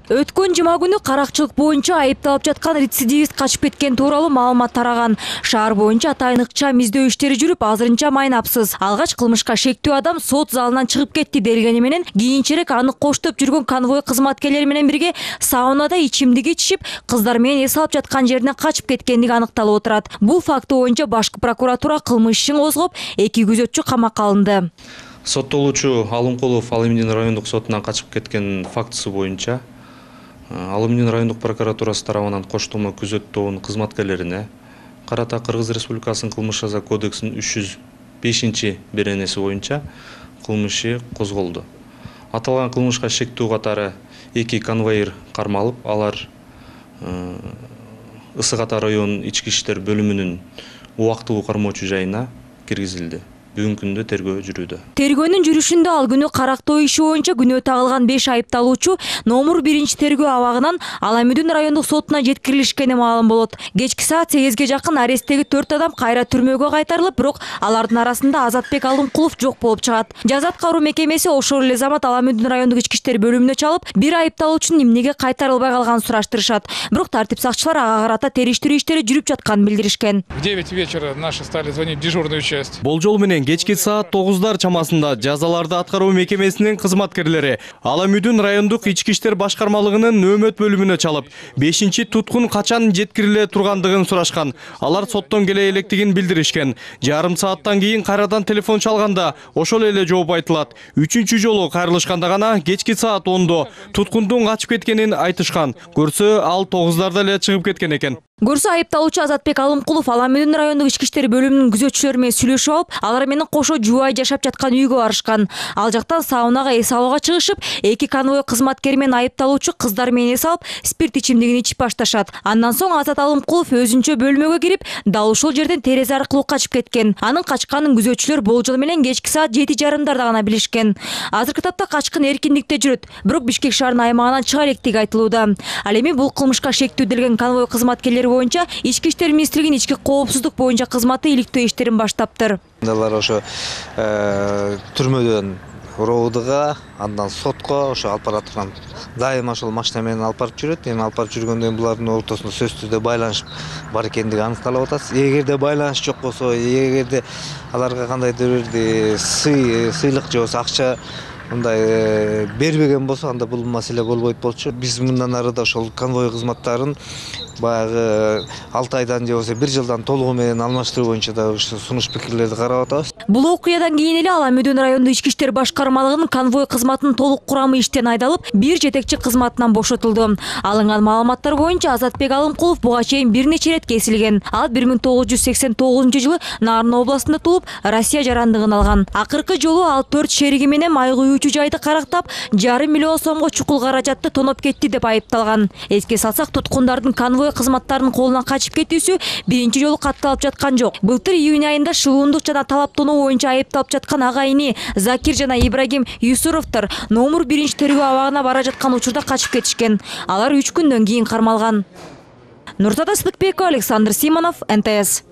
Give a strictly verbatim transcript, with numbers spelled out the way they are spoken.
Өткөн жума күнү каракчылык боюнча айыпталып жаткан рецидивист качып кеткен тууралуу маалымат тараган. Шаар боюнча атайын ыкчам издөө иштери жүрүп, азырынча майнапсыз. Алгач кылмышка шектүү адам сот залынан чыгып кетти делгени менен кийинчерээк аны коштоп жүргөн конвой кызматкерлери менен бирге саунада ичимдик ичишип, кыздар менен эс алып жаткан жеринен качып кеткендиги аныкталып отурат. Бул факты боюнча башкы прокуратура кылмыш ишин козгоп, эки күзөтчү камакка алынды. Соттолуучу Алымкулов Алымдин райондук сотунан качып кеткен фактысы боюнча Алымдин райондук прокуратурасы тарабынан коштолмо күзөт тобунун кызматкерлерине карата Кыргыз Республикасынын кылмыш жаза кодексинин үч жүз бешинчи беренеси боюнча кылмыш иши козголду. Аталган кылмышка шектүү катары эки конвоир кармалып, алар Ысык Ата районунун ички иштер бөлүмүнүн убактылуу кармоочу жайына киргизилди. Бүгүнкү күндө тергөө жүрүүдө. Тергөөнүн жүрүшүндө ал күнү карактоо иши боюнча күнөө тагылган беш айыпталуучу номер биринчи тергөө абагынан Аламүдүн райондук сотуна жеткирилишкени маалым болот. Кечки саат сегизге жакын аресттеги төрт адам кайра түрмөгө кайтарылып, бирок алардын арасында Азатбек Алымкулов жок болуп чыгат. Жаза аткаруу мекемеси ошол эле замат Аламүдүн райондук ички иштер бөлүмүнө чалып, бир айыпталуучунун эмнеге кайтарылбай калганын сураштырышат. Бирок тартип сакчылар ага карата териштирүү иштери жүрүп жатканын билдиришкен. В девять вечера наши стали звонить в дежурную часть. Болжол менен кечки саат тогуздар чамасында жазаларды аткаруу мекемесинин кызматкерлери Аламүдүн райондук ички иштер башкармалыгынын нөөмөт бөлүмүнө чалып, бешинчи туткун качан жеткириле тургандыгын сурашкан. Алар соттон келе электигин билдиришкен. Жарым сааттан кийин кайрадан телефон чалганда ошол эле жооп айтылат. Үчүнчү жолу кайрылышканда гана кечки саат ондо туткундун качып кеткенин айтышкан. Көрсө ал тогуздарда эле чыгып кеткен экен. Көрсө айыпталуучу Азатбек Алымкулов Аламүдүн райондук ички иштер бөлүмүнүн күзөтчүлөрү менен сүйлөшүп алып, алар менен кошо жубай жашап жаткан үйгө барышкан. Ал жактан саунага эс алууга чыгышып, эки конвой кызматкери менен айыпталуучу кыздар менен эс алып, спирт ичимдигин ичип башташат. Андан соң Азат Алымкулов өзүнчө бөлмөгө кирип, дал ушул жерден терезе аркылуу качып кеткен. Анын качканын күзөтчүлөр болжол менен кечки саат жети жарымдарда гана билишкен. Азыркы тапта качкын эркиндикте жүрөт, бирок Бишкек шаарынын аймагынан чыга электиги айтылууда. Ал эми бул кылмышка шектүү делген конвой кызматкерлери боюнча Ички иштер министрлигинин ички коопсуздук боюнча кызматы иликтөө иштерин баштаптыр. Алар ошо түрмөдөн РОУДга, андан сотко ошо алып бара турган дайыма ошол машина менен алып барып жүрөт. Эми алып барып жүргөндөн булардын ортосунда сөзсүз түрдө байланыш бар экендиги аныкталып атат. Эгерде байланыш жок болсо, эгерде аларга кандайдыр бир сый, сыйлык же болбосо акча мындай бербеген болсо, анда бул маселе болбойт болчу. Биз мындан ары да ошол конвой кызматтарын баягы алты айдан же болбосо бир жылдан толугу менен алмаштыруу боюнча да сунуш пикирлерди карап атабыз. Бул окуядан кийин эле Аламүдүн райондук ички иштер башкармалыгынын конвой кызматынын толук курамы иштен айдалып, бир жетекчи кызматынан бошотулду. Алынган маалыматтар боюнча Азатбек Алымкулов буга чейин бир нече ирет кесилген. Ал бир миң тогуз жүз сексен тогузунчу жылы Нарын областында туулуп, Россия жарандыгын алган. Акыркы жолу ал төрт шериги менен май куюучу жайды карактап, жарым миллион сомго чукул каражатты тоноп кетти деп айыпталган. Эске салсак, туткундардын конвой кызматтарынын колунан качып кетүүсү биринчи жолу катталып жаткан жок. Былтыр июнь айында шылуундук жана талаптонуу боюнча айыпталып жаткан агайыны Закир жана Ибрагим Юсуровдор номер биринчи тергөө абагына бара жаткан учурда качып кетишкен. Алар үч күндөн кийин кармалган. Нуртада Сыдыкбекова, Александр Симонов, эн тэ эс.